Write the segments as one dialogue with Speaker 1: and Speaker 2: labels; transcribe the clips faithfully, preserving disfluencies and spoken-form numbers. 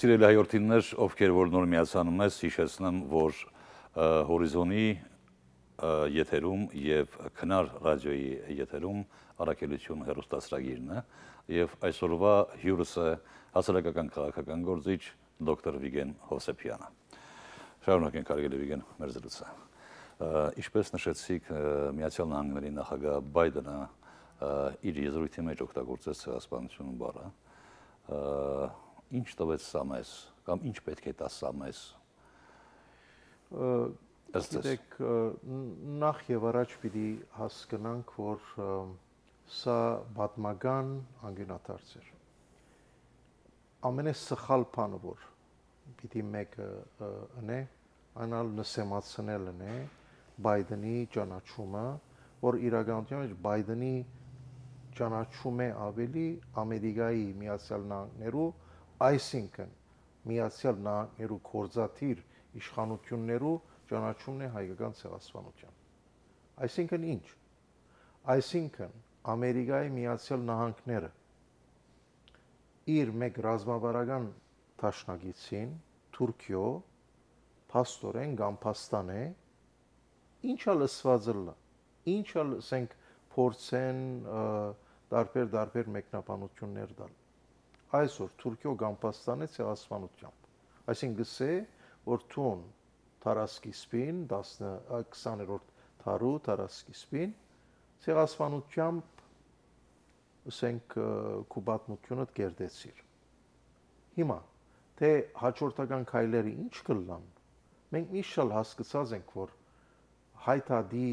Speaker 1: Սիրելի հայրենիներ, ովքեր որ նոր միացանում ես, հիշեցնեմ, որ հորիզոնի եթերում եւ քնար ռադիոյի եթերում առաքելություն հեռուստասրագիրն է եւ այսօրվա հյուրս է հասարակական քաղաքական գործիչ դոկտոր Վիգեն Հովսեփյանը։ Շարունակենք հարգելի Վիգեն մեր զրույցը։ Ինչպես նշեցիք, Միացյալ Նահանգների նախագահ Բայդենը իր եզրույթի մեջ օգտագործեց ցեղասպանություն բառը։ Ինչ տվեց սա մեզ, կամ ինչ պետք է տա սա մեզ։
Speaker 2: Գիտեք, նախ եւ առաջ պիտի հասկանանք, որ սա պատմական անգյունաթարց էր։ Ամենասխալ բանը, որ պիտի մեկը ընե, այնալ նսեմացնել է Բայդենի ճանաչումը, որ իրականության մեջ Բայդենի ճանաչում է ավելի Ամերիկայի Միացյալ Նահանգներու, այսինքն Միացյալ Նահանգներու կորզաթիր իշխանություններու ճանաչումն է հայկական ցեղասպանության։ Այսինքն ինչ։ Այսինքն Ամերիկայի Միացյալ Նահանգները իր մեկ ռազմավարական դաշնակիցին Թուրքիո փաստորեն կամ փաստան է ինչա լսվածը լա ինչա ասենք փորձեն տարբեր տարբեր մեկնաբանություններ տալ այսօր Թուրքիո կամ փաստան է ցեղասպանությամբ այսինքն գսե որ թուն տարածքիսպին քսաներորդ դարու տարածքիսպին ցեղասպանությամբ ասենք կուբատմությունը կերտեցիր հիմա թե հաջորդական քայլերը ինչ կլան մենք միշտ հասկացած ենք որ հայտարարի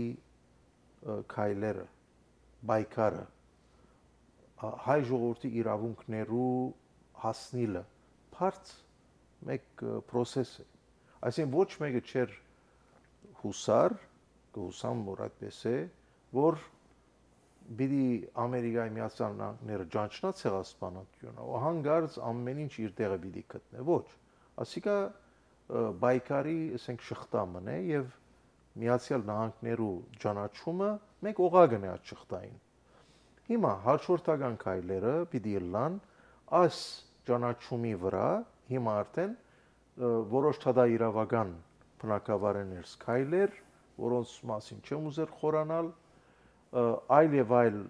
Speaker 2: քայլերը բայկարը հայ ժողովրդի իրավունքներու հասնիլը բարձ մեկ process է այսինքն ոչ մեկը չէր հուսար կհուսամ որ այդպես է որ բիդի Ամերիկայի Միացյալ Նահանգները ճանչնա ցեղասպանությունը ու հանգարց ամեն ինչ իր տեղը բիդի գտնե ոչ ասիկա բայկարի ասենք շղթամն է եւ Միացյալ Նահանգներու ճանաչումը մեկ օղագն է այդ շղթային հիմա հաջորդական քայլերը պիտի լան այս ճանաչումի վրա հիմա արդեն որոշ թադայրավական բնակավարներ քայլեր որոնց մասին չեմ ուզեր խորանալ այլ եւ այլ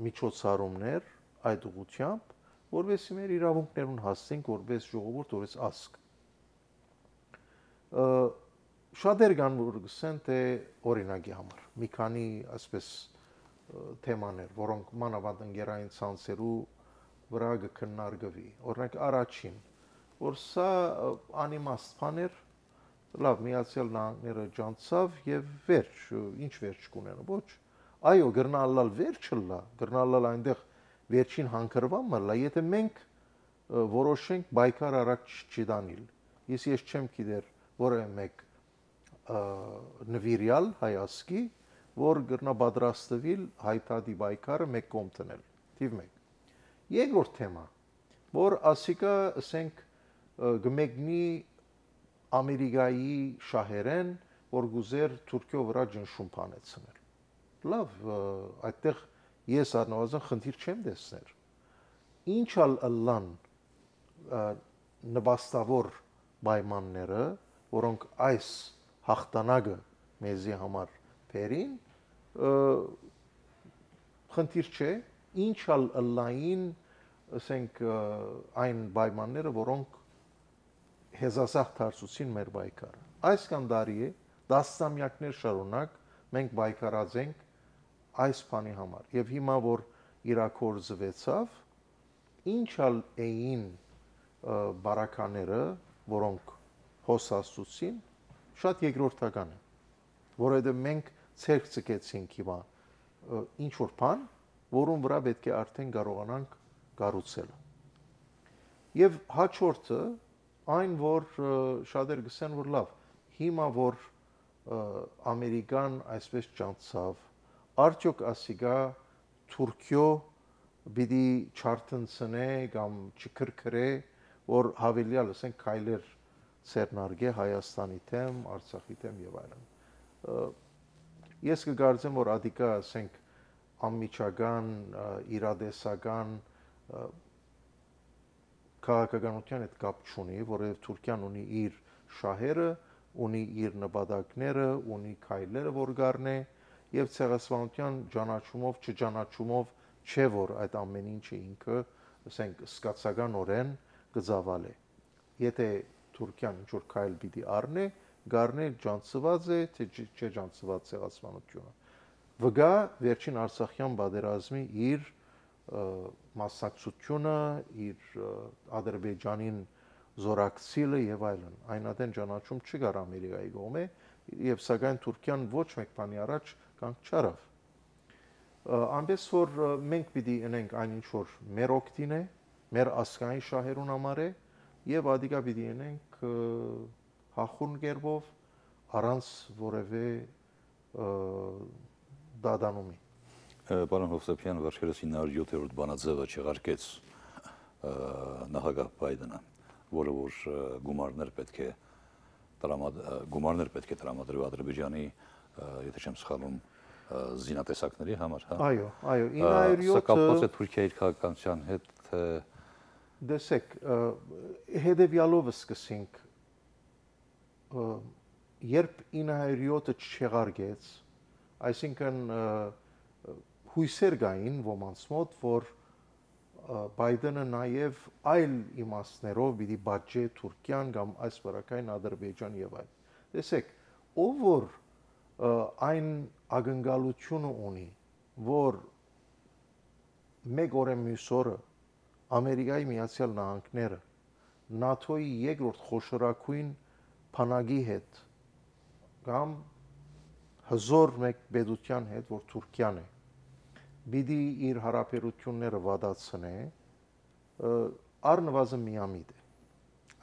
Speaker 2: միջոցառումներ այդ ուղղությամբ որովհետեւ մեր իրավունքներուն հասցենք որպես ժողովուրդ որպես ազգ շատեր կան որ գսեն թե օրինակի համար մի քանի այսպես թեմաներ որոնք մանավանդ ընկերային ցանցերու վրա կքննարկվի օրինակ առաջին որ սա անիմաստ բաներ լավ Միացյալ Նահանգները ճանցավ եւ վերջ ինչ վերջ կունենա ոչ այո գրնալալ վերջը լա գրնալալ այնտեղ վերջին հանգրվամը լա եթե մենք որոշենք բայկար առաջ չդանել ես ես չեմ գիտեր որը մեկ նվիրյալ հայասկի որ գրնա պատրաստվել հայտարարի բայկարը մեկ կողմ տնել թիվ մեկ երկրորդ թեմա որ ասիկա ասենք գմեգնի Ամերիկայի շահերեն որ գուզեր Թուրքիո վրա ջնշում փանեցնել լավ այդտեղ ես առնվազն խնդիր չեմ տեսներ ինչալ ըլլան նպաստավոր պայմանները որոնք այս հաղթանակը մեզի համար բերին խնդիր չէ ինչալ ըլլային ասենք այն պայմանները որոնք հեզասախ դարձուցին մեր բայկարը այս կամ դարի է դասամյակներ շարունակ մենք բայկարած ենք այս բանի համար եւ հիմա որ իրակորձվեցավ ինչալ էին բարակաները որոնք հոսացուցին շատ երկրորդական է որովհետեւ մենք ցերկ ցկեցինք հիմա ինչ որ բան որուն վրա պետք է արդեն կարողանանք կառուցել եւ հաջորդը այն որ շատեր գսեն որ լավ հիմա որ ամերիկան այսպես ճանցավ արդյոք ասիկա Թուրքիո բիդի չարտնցնե կամ չքրքրե որ հավելյալ ասենք քայլեր ցերնարգե Հայաստանի թեմ Արցախի թեմ եւ այլն ես կգարձեմ որ ադիկա ասենք անմիջական իրադեսական քաղաքականության հետ կապ չունի, որովհետև Թուրքիան ունի իր շահերը, ունի իր նպատակները, ունի քայլերը, որ գարնե, եւ ցեղասպանության ճանաչումով, չճանաչումով չէ որ այդ ամեն ինչը ինքը, ասենք, սկացականորեն գծավալ է։ Եթե Թուրքիան ինչ որ քայլ պիտի առնի, գարնե ջանցված է, թե չէ ջանցված ցեղասպանությունը։ Վգա վերջին Արցախյան պատերազմի իր մասնակցությունը, իր Ադրբեջանին զորակցիլը եւ այլն, այնադեն ճանաչում չկար Ամերիկայի կողմէ, եւ սակայն Թուրքիան ոչ մեկ բանի առաջ կանգ չարավ։ Այնպես որ մենք պիտի ունենք այն ինչ որ մեր օգտին է, մեր ասկային շահերուն համար է, եւ ադիկա պիտի ունենք հախուռն կերպով առանց որևէ դադանումի։
Speaker 1: Պարոն Հովսեփյան, վերջերս ինը հարյուր յոթերորդ բանաձևը չեղարկեց նախագահ Բայդենը, որը որ գումարներ պետք է գումարներ պետք է տրամադրվի Ադրբեջանի, եթե չեմ սխալվում, զինատեսակների համար, հա։
Speaker 2: Այո, այո, ինը հարյուր յոթը
Speaker 1: Սա կապված է Թուրքիայի քաղաքականության հետ, թե
Speaker 2: դեսեք, հետևյալով սկսենք, երբ ինը հարյուր յոթը չեղարկեց, այսինքն հույսեր կային ոմանց մոտ, որ Բայդենը նաև այլ իմաստներով պիտի բաժե Թուրքիան կամ այս վարակային Ադրբեջան եւ այլ։ Տեսեք, ով որ այն ակնկալությունը ունի, որ մեկ օրը մյուս օրը Ամերիկայի Միացյալ Նահանգները ՆԱԹՕ-ի երկրորդ խոշորագույն բանակի հետ կամ հզոր մեկ պետության հետ, որ Թուրքիան է, պիտի իր հարաբերությունները վատացնե, առնվազն միամիտ է։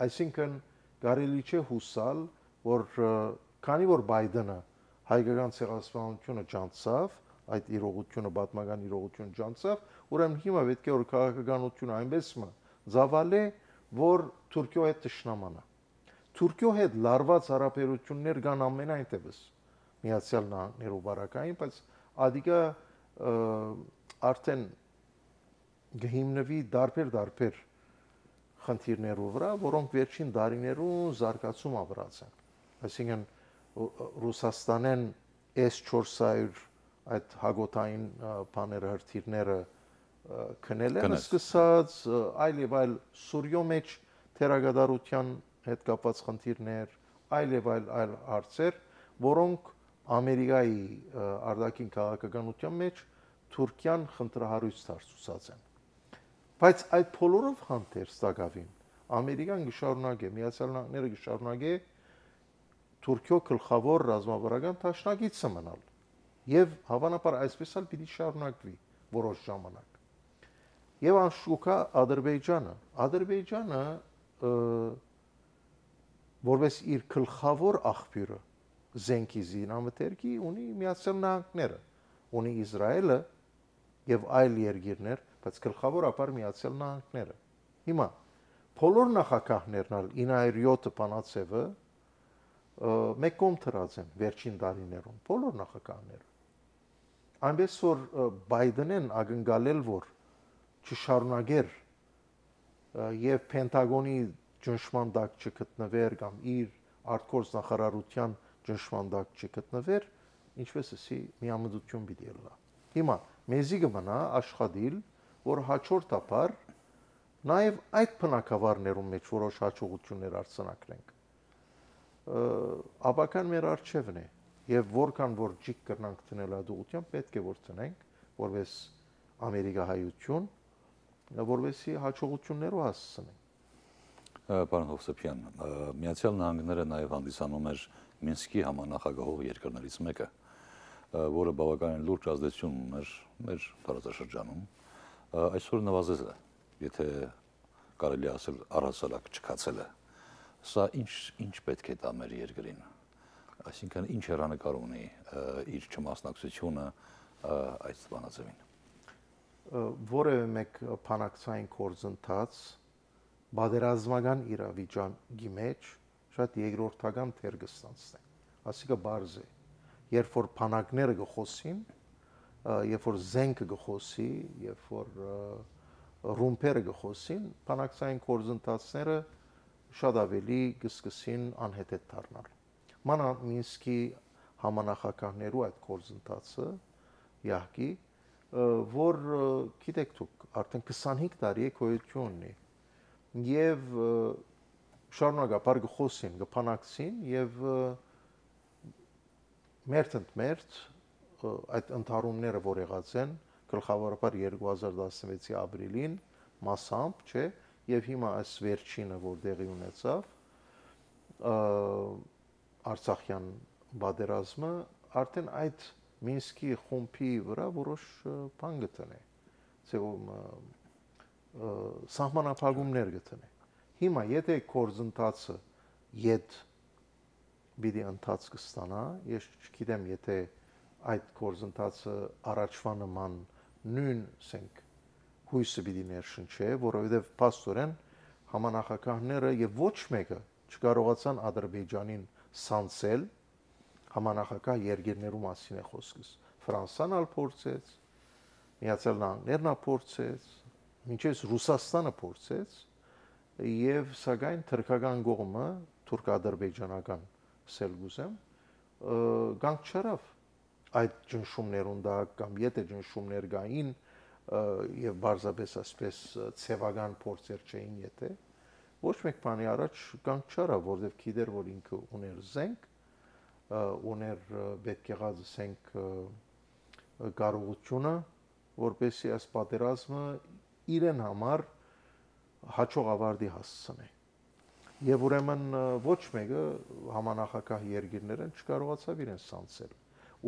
Speaker 2: Այսինքն կարելի չէ հուսալ, որ քանի որ Բայդենը հայկական ցեղասպանությունը ջանցավ, այդ իրողությունը պատմական իրողությունը ջանցավ, ուրեմն հիմա պետք է որ քաղաքականությունը այնպես մը ծավալե, որ Թուրքիո հետ ճշնամանա։ Թուրքիո հետ լարված հարաբերություններ կան ամենայն դեպս Միացյալ Նահանգներու բարակային, բայց ադիկա արդեն գհիմնվի դարբեր-դարբեր խնդիրներով վրա, որոնք վերջին տարիներուն զարգացում ապրած են։ Այսինքն Ռուսաստանեն էս չորս հարյուր այդ հագոտային բաները հրթիռները քնել են սկսած, այլ եւ այլ Սուրիո մեջ թերագադարության հետ կապված խնդիրներ, այլ եւ այլ այլ հարցեր, որոնք Ամերիկայի արտաքին քաղաքականության մեջ Թուրքիան խնդրահարույց դարձուցած են։ Բայց այդ բոլորով հանդերձ տակավին Ամերիկան գշարունակե, Միացյալ Նահանգները գշարունակե Թուրքիո գլխավոր ռազմավարական դաշնակիցը մնալ։ Եվ հավանաբար այսպես էլ պիտի շարունակվի որոշ ժամանակ։ Եվ անշուկա Ադրբեջանը, Ադրբեջանը որպես իր գլխավոր աղբյուրը զենքի զինամթերքի ունի Միացյալ Նահանգները, ունի Իսրայելը եւ այլ երկիրներ, բայց գլխավորապես Միացյալ Նահանգները։ Հիմա բոլոր նախագահներն ինը հարյուր յոթ բանաձևը մեկ կողմ դրած են վերջին տարիներում, բոլոր նախագահները։ Այնպես որ Բայդենեն ակնկալել որ չշարունակեր եւ Պենտագոնի ճնշման տակ չգտնվեր կամ իր արտգործ նախարարության ճնշման տակ չգտնվեր, ինչպես էսի միամտություն պիտի ելնա։ Հիմա մեզի կմնա աշխատիլ, որ հաջորդաբար նաև այդ բնակավարներում մեջ որոշ հաջողություններ արձանագրենք։ Աբական մեր արժևն է եւ որքան որ ճիք կրնանք տնել ադուղության պետք է որ տնենք որպես ամերիկահայություն, որովհետեւ հաջողություններով հասցնենք։
Speaker 1: Պարոն Հովսեփյան, Միացյալ Նահանգները նաև հանդիսանում էր Մինսկի համանախագահող երկրներից մեկը, որը բավականին լուրջ ազդեցություն ուներ մեր տարածաշրջանում, այսօր նվազել է, եթե կարելի ասել առհասարակ չքացել է։ Սա ինչ ինչ պետք է տա մեր երկրին։ Այսինքն ինչ հեռանկար ունի իր չմասնակցությունը այս բանաձևին։
Speaker 2: Որևէ մեկ բանակցային գործընթաց բادرազմական իրավիճակի մեջ շատ երկրորդական թեր կստանցնի։ Այսինքն բարձ է, երբ որ բանակները գխոսին, երբ որ զենքը գխոսի, երբ որ ռումբերը գխոսին, բանակցային գործընթացները շատ ավելի կսկսին անհետեթ դառնալ։ Մանա Մինսկի համանախագահներու այդ գործընթացը իհարկե, որ գիտեք դուք արդեն քսանհինգ տարի է գոյություն ունի եւ շարունակաբար գխոսին, գփանակցին եւ մերթ ընդ մերթ այդ ընդհարումները, որ եղած են գլխավորաբար երկու հազար տասնվեցի ապրիլին մասամբ, չէ, եւ հիմա այս վերջինը, որ տեղի ունեցավ, Արցախյան պատերազմը արդեն այդ Մինսկի խումբի վրա որոշ բան գտնե, ցեվում սահմանափակումներ գտնե։ Հիմա եթե գործընթացը իդ բիդի ընթաց կստանա, ես չգիտեմ, եթե այդ գործընթացը առաջվա նման նույն սենք հույսը պիտի ներշնչե, որովհետև փաստորեն համանախագահները եւ ոչ մեկը չկարողացան Ադրբեջանին սանցել համանախագահ երկրներու մասին է խոսքս։ Ֆրանսան ալ փորձեց, Միացյալ Նահանգներն ալ փորձեց, մինչև Ռուսաստանը փորձեց եւ սակայն թուրքական կողմը, թուրք-ադրբեջանական սելգուսեմ, գանք չարավ այդ ճնշումներուն դա կամ եթե ճնշումներ գային եւ բարձրապես ասպես ցեվական փորձեր չէին, եթե ոչ մեկ բանի առաջ գանք չարավ, որովհետեւ գիտեր, որ ինքը ուներ զենք, ուներ պետք եղած զենք կարողությունը, որպեսզի այս պատերազմը իրեն համար հաջող ավարտի հասցնի։ Եվ ուրեմն ոչ մեկը համանախագահ երկրներն չկարողացավ իրեն սանցել։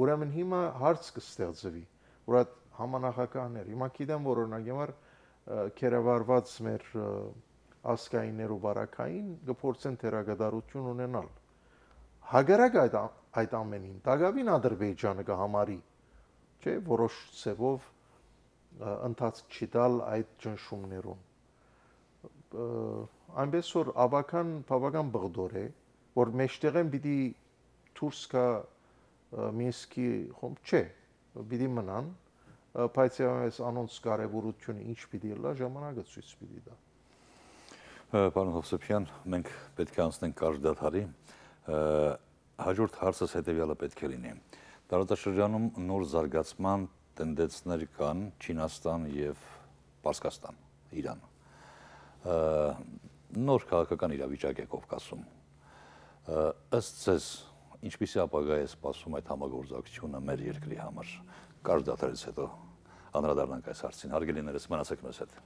Speaker 2: Ուրեմն հիմա հարց կստեղծվի, որ այդ համանախագահներ, հիմա գիտեմ, որ օրինակ համար կերավարված մեր ասկայիններու բարակային կփորձեն թերագդարություն ունենալ։ Հագարակ այդ այդ ամենին դակավին Ադրբեջանը կհամարի, չէ, որոշ ցևով ընթացք չտալ այդ ճնշումներուն։ Այնպես որ ավական բավական բղդոր է, որ մեջտեղեն պիտի դուրս գա Մինսկի խումբ, չէ, պիտի մնան, բայց այս անոնց կարևորությունը ինչ պիտի լա, ժամանակը ցույց պիտի տա։
Speaker 1: Պարոն Հովսեփյան, մենք պետք է անցնենք կարճ դադարի, հաջորդ հարցս հետևյալը պետք է լինի։ Տարածաշրջանում նոր զարգացման տենդեցներ կան Չինաստան եւ Պարսկաստան, Իրան։ Նոր քաղաքական իրավիճակ է Կովկասում։ Ըստ ձեզ, ինչպիսի ապագա է սպասում այդ համագործակցությունը մեր երկրի համար։ Կարճ դադարից հետո անդրադառնանք այս հարցին։ Հարգելիներս, մնացեք մեզ հետ։